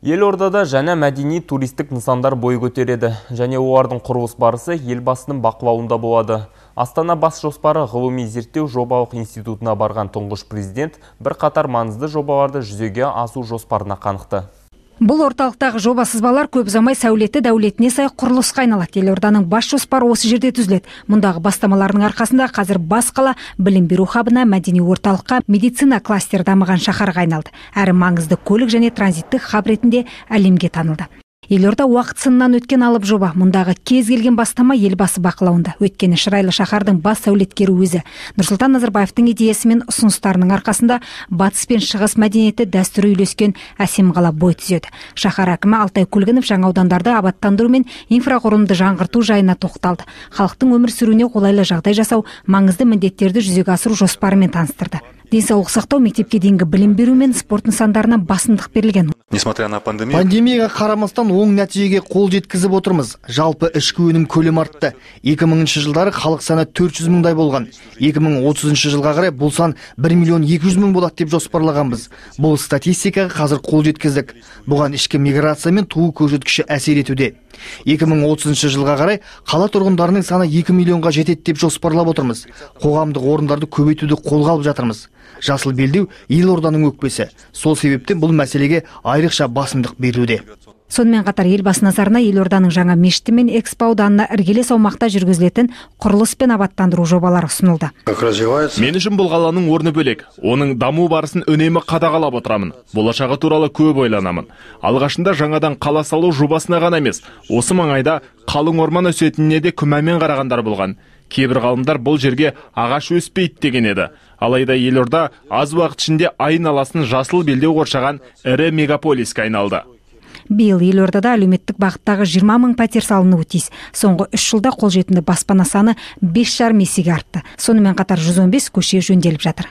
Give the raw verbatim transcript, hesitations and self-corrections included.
Елордада жаңа мәдени туристік нысандар бой көтереді, және олардың құрылыс барысы елбасының бақылауында болады. Астана бас жоспары ғылыми зерттеу жобалық институтына барған тұңғыш президент бір қатар маңызды жобаларды жүзеге асу жоспарына қанықты. Бұл орталықтағы жоба сызбалар көп ұзамай сәулеті дәулетіне сай құрылысқа айналады. Елорданың бас жоспары осы жерде түзіледі. Мұндағы бастамалардың арқасында қазір бас қала білім беру хабына, мәдени орталыққа, медицина кластер дамыған шаһарға айналды. Әрі маңызды көлік және транзиттік хаб ретінде әлемге танылды. Елорда уақыт сынынан өткен алып жоба. Мұндағы кез келген бастама елбасы бақылауында. Өткені шырайлы шаһардың бас сәулеткері өзі. Нұрсұлтан Назарбаевтың идеясы мен ұсыныстарының арқасында батыс пен шығыс мәдениеті дәстүрі үйлескен әсем қала бой түзеді. Шаһар әкімі Алтай Көлгінов жаңа аудандарды абаттандыру мен инфрақұрылымды жаңғырту жайына тоқталды. Халықтың өмір сүруіне қолайлы жағдай жасау, маңызды міндеттерді жүзеге асыру жоспарымен таныстырды. Денсаулық сақтау, мектепке дейінгі білім беру мен спорт нысандарына басымдық берілген. Несмотря на пандемию, пандемияға қарамастан оң нәтижеге қол жеткізіп отырмыз. Жалпы ішкі өнім көлемі артты. екі мыңыншы жылдары халық саны төрт жүз мыңдай болған. екі мың отызыншы жылға қарай бұл сан бір миллион екі жүз мың болады деп жоспарлағанбыз. Бұл статистикаға қазір қол жеткіздік. Бұған ішкі миграция мен туу көрсеткіші әсер етуде. екі мың отызыншы жылға қарай қала тұрғындарының саны екі миллионға жетеді деп жоспарлап отырмыз. Қоғамдық орындарды көбейтуді қолға алып жатырмыз. Жасыл белдеу елорданың өкпесі. Сол себептен бұл мәселеге айрықша басымдық беруде. Сонымен қатар елбасы назарына елорданың жаңа мешіті мен экспо ауданына іргелес аумақта жүргізілетін құрылыс пен абаттандыру жобалары ұсынылды. Мен үшін бұл қаланың орны бөлек. Оның даму барысын үнемі қадағалап отырамын. Болашағы туралы көп ойланамын. Алғашында жаңадан қала салу жобасына ғана емес, осы маңайда қалың орман өсетініне де күмәнмен қарағандар болған. Кейбір ғалымдар бұл жерге ағаш өспейді деген еді. Алайда елорда аз уақыт ішінде айналасын жасыл белдеу қоршаған ірі мегаполиске айналды. Биыл елордада әлеуметтік бағыттағы жиырма мың пәтер салынуы тиіс. Соңғы үш жылда қолжетімді баспана саны бес жарым есеге артты. Сонымен қатар жүз он бес көше жөнделіп жатыр.